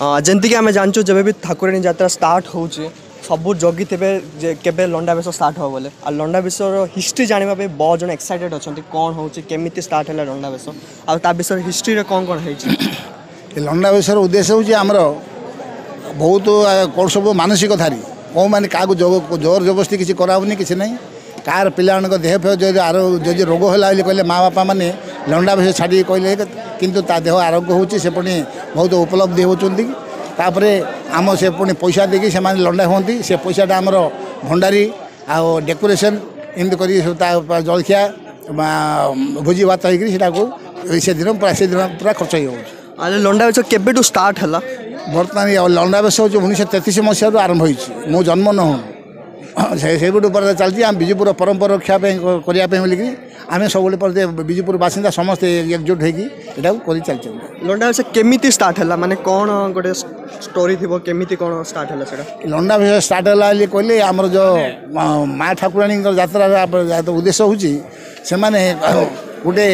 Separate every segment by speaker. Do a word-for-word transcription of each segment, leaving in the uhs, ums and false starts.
Speaker 1: ଯେମିତିକି ଆମେ ଜାଣିଛୁ ଯେବେ ବି ଠାକୁରାଣୀ ଯାତ୍ରା ଷ୍ଟାର୍ଟ ହେଉଛି ସବୁ ଜଗିଥିବେ ଯେ କେବେ ଲଣ୍ଡା ବେଶ ଷ୍ଟାର୍ଟ ହେବ ବୋଲେ ଆଉ ଲଣ୍ଡା ବେଶର ହିଷ୍ଟ୍ରି ଜାଣିବା ପାଇଁ ବହୁତ ଜଣ ଏକ୍ସାଇଟେଡ଼ ଅଛନ୍ତି କ'ଣ ହେଉଛି କେମିତି ଷ୍ଟାର୍ଟ ହେଲା ଲଣ୍ଡା ବେଶ ଆଉ ତା ବିଷୟରେ ହିଷ୍ଟ୍ରିରେ କ'ଣ କ'ଣ ହେଇଛି
Speaker 2: ଏ ଲଣ୍ଡା ବେଶର ଉଦ୍ଦେଶ୍ୟ ହେଉଛି ଆମର ବହୁତ କ'ଣ ସବୁ ମାନସିକଧାରୀ କେଉଁମାନେ କାହାକୁ ଜୋର ଜବରଦସ୍ତି କିଛି କରାହେଉନି କିଛି ନାହିଁ କାହାର ପିଲାମାନଙ୍କ ଦେହ ଫେହ ଯଦି ଆର ଯଦି ରୋଗ ହେଲା ବୋଲି କହିଲେ ମା ବାପା ମାନେ ଲଣ୍ଡା ବେଶ ଛାଡ଼ିକି କହିଲେ କିନ୍ତୁ ତା ଦେହ ଆରୋଗ୍ୟ ହେଉଛି ସେ ପୁଣି ବହୁତ ଉପଲବ୍ଧି ହେଉଛନ୍ତି ତାପରେ ଆମ ସେ ପୁଣି ପଇସା ଦେଇକି ସେମାନେ ଲଣ୍ଡା ହୁଅନ୍ତି ସେ ପଇସାଟା ଆମର ଭଣ୍ଡାରୀ ଆଉ ଡେକୋରେସନ୍ ଏମିତି କରିକି ସବୁ ତା ଜଳଖିଆ ଭୋଜି ଭାତ ହେଇକିରି ସେଟାକୁ ସେଦିନ ପୁରା ସେଦିନ ପୁରା ଖର୍ଚ୍ଚ ହେଇଯାଉଛି
Speaker 1: ଆରେ ଲଣ୍ଡା ବେଶ କେବେଠୁ ଷ୍ଟାର୍ଟ ହେଲା
Speaker 2: ବର୍ତ୍ତମାନ ଲଣ୍ଡା ବେଶ ହେଉଛି ଉଣେଇଶହ ତେତିଶ ମସିହାରୁ ଆରମ୍ଭ ହୋଇଛି ମୁଁ ଜନ୍ମ ନ ହଉ ସେ ସେଇଠୁ ପରେ ଚାଲିଛି ଆମ ବିଜୁପୁର ପରମ୍ପରା ରକ୍ଷା ପାଇଁ କରିବା ପାଇଁ ବୋଲିକି ଆମେ ସବୁବେଳେ ପରେ ବିଜୁପୁର ବାସିନ୍ଦା ସମସ୍ତେ ଏକଜୁଟ ହେଇକି ଏଟାକୁ କରି ଚାଲିଛନ୍ତି
Speaker 1: ଲଣ୍ଡା ବେଶ କେମିତି ଷ୍ଟାର୍ଟ ହେଲା ମାନେ କ'ଣ ଗୋଟେ ଷ୍ଟୋରି ଥିବ କେମିତି କ'ଣ ଷ୍ଟାର୍ଟ ହେଲା ସେଇଟା
Speaker 2: ଲଣ୍ଡା ବେଶ ଷ୍ଟାର୍ଟ ହେଲା ବୋଲି କହିଲେ ଆମର ଯେଉଁ ମା ଠାକୁରାଣୀଙ୍କର ଯାତ୍ରାର ଉଦ୍ଦେଶ୍ୟ ହେଉଛି ସେମାନେ ଗୋଟେ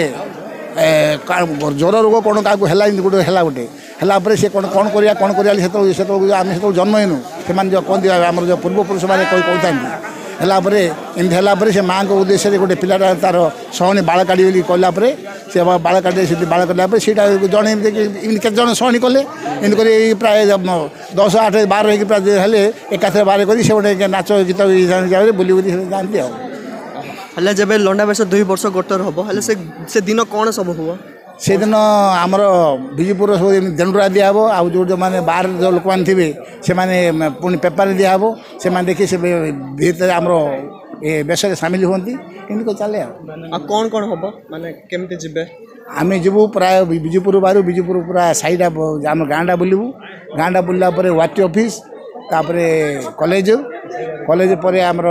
Speaker 2: ଜ୍ୱର ରୋଗ କ'ଣ କାହାକୁ ହେଲା ଏମିତି ଗୋଟେ ହେଲା ଗୋଟେ ହେଲା ପରେ ସେ କ'ଣ କ'ଣ କରିବା କ'ଣ କରିବା ସେତେବେଳେ ସେତେବେଳକୁ ଆମେ ସେତେବେଳେ ଜନ୍ମ ହେଇନୁ ସେମାନେ ଯେଉଁ କହନ୍ତି ଆମର ଯେଉଁ ପୂର୍ବପୁରୁଷମାନେ କହି କହୁଥାନ୍ତି ହେଲା ପରେ ଏମିତି ହେଲା ପରେ ସେ ମାଆଙ୍କ ଉଦ୍ଦେଶ୍ୟରେ ଗୋଟେ ପିଲାଟା ତାର ସହଣୀ ବାଳ କାଢ଼ି ବୋଲି କହିଲା ପରେ ସେ ବାଳ କାଢ଼ି ସେଠି ବାଳ କାଢ଼ିଲା ପରେ ସେଇଟା ଜଣେ ଏମିତି ଏମିତି କେତେ ଜଣ ସହଣୀ କଲେ ଏମିତି କରି ପ୍ରାୟ ଦଶ ଆଠ ବାର ହେଇକି ପ୍ରାୟ ହେଲେ ଏକାଥରେ ବାର କରି ସେ ଗୋଟେ ନାଚ ଗୀତ ବୁଲି ବୁଲି ଯାଆନ୍ତି ଆଉ
Speaker 1: ହେଲେ ଯେବେ ଲଣ୍ଡା ବେଶ ଦୁଇ ବର୍ଷ ଗୋଟର ହେବ ହେଲେ ସେ ସେ ଦିନ କ'ଣ ସବୁ ହୁଅ
Speaker 2: ସେଦିନ ଆମର ବିଜୁପୁର ସବୁ ଏମିତି ଦଣ୍ଡୁରା ଦିଆହେବ ଆଉ ଯେଉଁ ଯେଉଁମାନେ ବାହାରେ ଯେଉଁ ଲୋକମାନେ ଥିବେ ସେମାନେ ପୁଣି ପେପରରେ ଦିଆହେବ ସେମାନେ ଦେଖି ସେ ଭିତରେ ଆମର ଏ ବେଶରେ ସାମିଲ ହୁଅନ୍ତି ଏମିତି କରି ଚାଲେ ଆଉ
Speaker 1: ଆଉ କ'ଣ କ'ଣ ହେବ ମାନେ କେମିତି ଯିବେ
Speaker 2: ଆମେ ଯିବୁ ପ୍ରାୟ ବିଜୁପୁର ବାହାରୁ ବିଜୁପୁର ପୁରା ସାହିଟା ଆମ ଗାଁଟା ବୁଲିବୁ ଗାଁଟା ବୁଲିଲା ପରେ ୱାଟି ଅଫିସ୍ ତାପରେ କଲେଜ କଲେଜ ପରେ ଆମର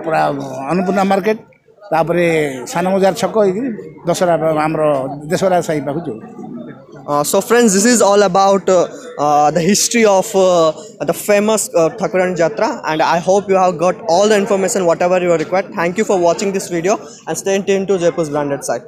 Speaker 2: ପୁରା ଅନ୍ନପୂର୍ଣ୍ଣା ମାର୍କେଟ ତାପରେ ସାନ ବଜାର ଛକ ହେଇକିରି ଦଶହରା ଆମର ଦେଶରା ସାହି ପାଖକୁ ଯିବୁ
Speaker 1: Uh, so friends, this is all about uh, uh, the history of uh, the famous uh, Thakurani Jatra and I hope you have got all the information whatever you are required. Thank you for watching this video and stay tuned to Jaipur's branded site.